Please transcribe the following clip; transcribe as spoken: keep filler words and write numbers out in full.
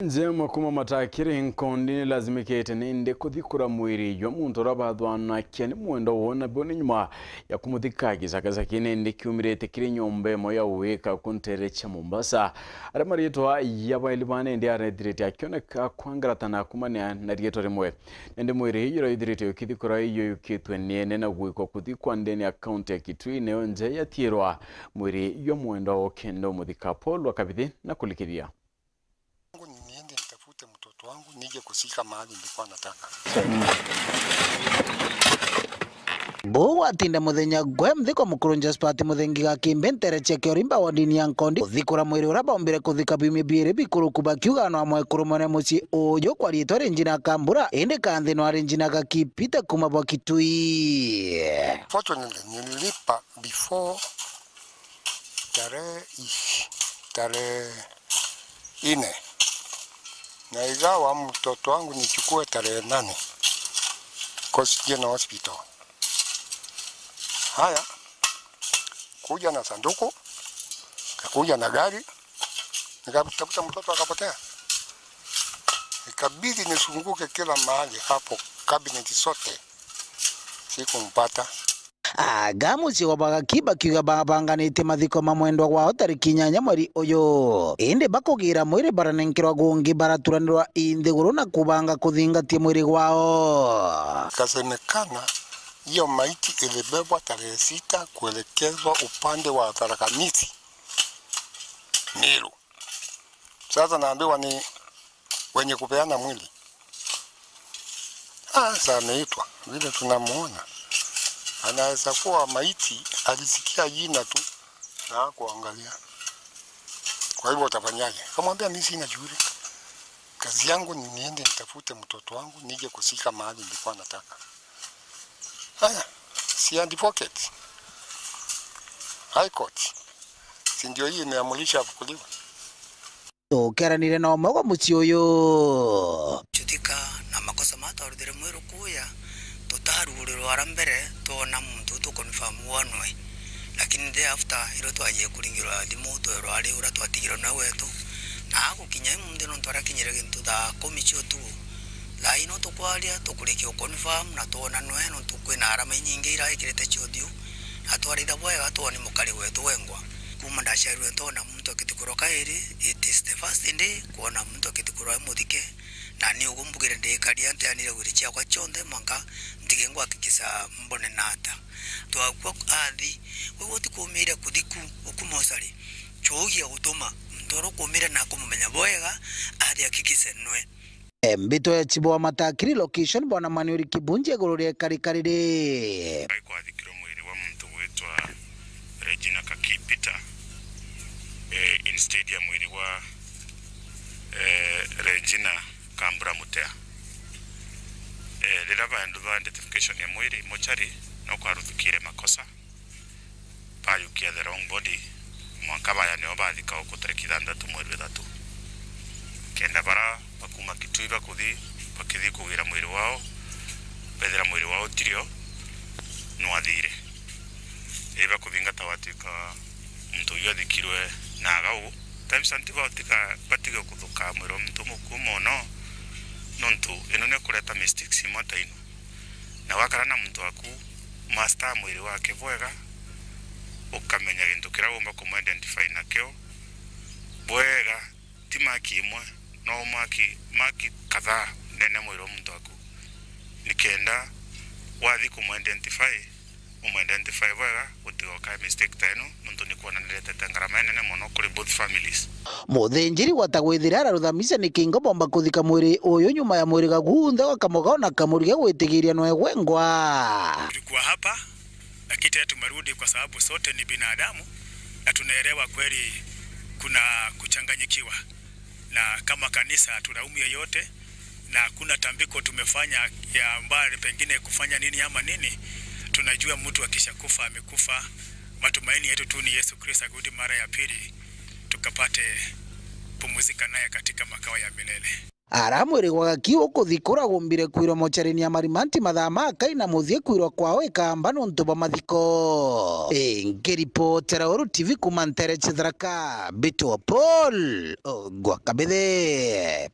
Njema kuma matakiri nkondi ni lazimikite nindi kuthikura mwiri jwa muntu uria bathwanakia ni mwendwa woo, na bo ni nyuma ya kumuthika gisakasakine nindi kiumirite kiri nyomba imwe ya uwika ku ntere cia Mombasa. Aria mariitwa ya baeli bana nindi arethirite akioneka kwangaratana kumania na riitwa rimwe. Nindi mwiri juria juthirite ukithikura juyukitwe ni ene na gwikwa kuthikwa ndene ya kaunti ya Kitui, nayo nja yatiirwa mwiri jwa mwendwa woo kenda umuthika. Paul wa Kabithi na kulikithia. Niende nitafute mtoto wangu nije kusika mahali nilikuwa nataka. Buu gwatinda muthenya gwe mthiko mukuru Josephat Muthengi Gakimbi ntere cia Kiorimba wodini ya Nkondi kuthikura mwiri uria baumbire kuthika biumia biiri bikuruku, bakiuga no amwekuru mwene mucii uju kwa riitwa Regina Kambura, indi kanthi no ari Regina Gakipita kuma bwa Kitui. Fortunately, nililipa before tarehe ishi, tarehe nne. Na igawa mtoto wangu nichukue tarehe nane. Coast General Hospital. Haya, kuja na sanduku, kakuja na gari, nikatafuta mtoto akapotea. Ikabidi nisunguke kila mahali hapo, cabinet zote. Sikumpata. Aga mucii wa Bagaki bakiuga babanganitie mathiko ma mwendwa wao tariki inyanya mweri uyu. Indi bakugira mwiri baranenkerwa gungi, baraturanirwa i nthiguru na kubanga kuthingatia mwiri gwao. Ikasemekana hiyo maiti ilibebwa tarehe sita kuelekezwa upande wa Tharaka Nithi, Meru. Sasa naambiwa ni wenye kupeana mwili. Ah, sasa ameitwa, vile tunamuona. Anaweza kuwa maiti alisikia jina tu na hakuangalia. Kwa hivyo utafanyaje? Kamwambia, "Mimi sina shughuli. Kazi yangu ni niende nitafute mtoto wangu nije kusika mahali nilikuwa nataka." Haya, si advocate. High Court. Si ndio hii imeamulisha afukuliwe? Tukeranire na umwe wa mucii uyu. Chutika na makosa ma twaruthire mwiru kuya, tutarugurirwa ara mbere twona muntu tuconfirm wanwe. Lakini thereafter, irio twajie kuringirwa thimu, twerwa ari uria twatigirwe nawe wetu. Na agukinya imunthi nontu arakinyire gintu thaa kumi cia utuku. Thaa ino tukwaria, tukurikia uconfirm na twona nwe nontu kwina arama inyingi iraikirite cia uthiu. Na twaritha bwega, twoni mukari wetu wengwa. Kuma ndaciarirwe ntona muntu akithikurwa kairi, it is the first day kwona muntu akithikurwa e muthike, na ni ugu mbugire ndikaria nteanire wiri ciakwa cionthe mwanka ntige ngwakikisa mbone na ata. Twakua athi, we gutikuumire kuthiku uku mosari, cuugia gutuma muntu uria ukuumire na akumumenya bwega athi akikise nwe. Mbito ya chibo wa Matakiri location, Bwana Manuel Kibunji, iguru ria ikarika riri. Kwathikirwe mwiri wa muntu gwitwa Regina Kakipita, eh, instead ya mwiri wa, eh, Regina Kambura Mutea. Eh, riria baendu ba identification ya mwiri mochari, no kwaruthukire makosa, bayukia the wrong body, mwanka baya nio bathika uku tariki ithanthatu mweri wa ithatu. Kenda bara bakuma Kitui bakuthi, bakithi kugira mwiri wao, bethira mwiri wao utirio, nwathire. Ii bakuthingata watwika muntu uyu athikirwe na agau. Times and batika, batige kuthuka mwiri wa muntu mukuu mono, nontu ino ni kureta mistakes imwe ta ino. Na wakara na muntu waku, master mwiri wake bwega, ukamenya gintu kiria wumba kumu identify nakio bwega, ti maki imwe, no maki, maki kadhaa ndene mwiri wa muntu waku, nikenda wathi kumu identify, umu identify bwega, gutigoka mistake ta ino, nontu ni kwona niretete ngarama inene mono kuri both families. Muthinjiri gwata gwithira araruthamisha ni kingo bomba kuthika mwiri uyu nyuma ya mwiri gagunthe gwa kamugao na kamurige gwitigiria nwe gwengwa. Tulikuwa hapa, lakini tena tumerudi kwa sababu sote ni binadamu na tunaelewa kweli kuna kuchanganyikiwa. Na kama kanisa hatulaumu yeyote, na hakuna tambiko tumefanya ya mbali pengine kufanya nini ama nini. Tunajua mtu akishakufa amekufa. Matumaini yetu tu ni Yesu Kristo akirudi mara ya pili, tukapate pumzika naye katika makao ya milele. Ara mwiri gwa gaki ukuthikura gumbire kwirwa mochari-ini ya Marimanti mathaa ma kai na muthie kwirwa kwao ikamba nontu bwa mathiko. Ingiripotera Uru T V kuma ntere cia Tharaka, Mbitwa Paul Ogwa Kabithe.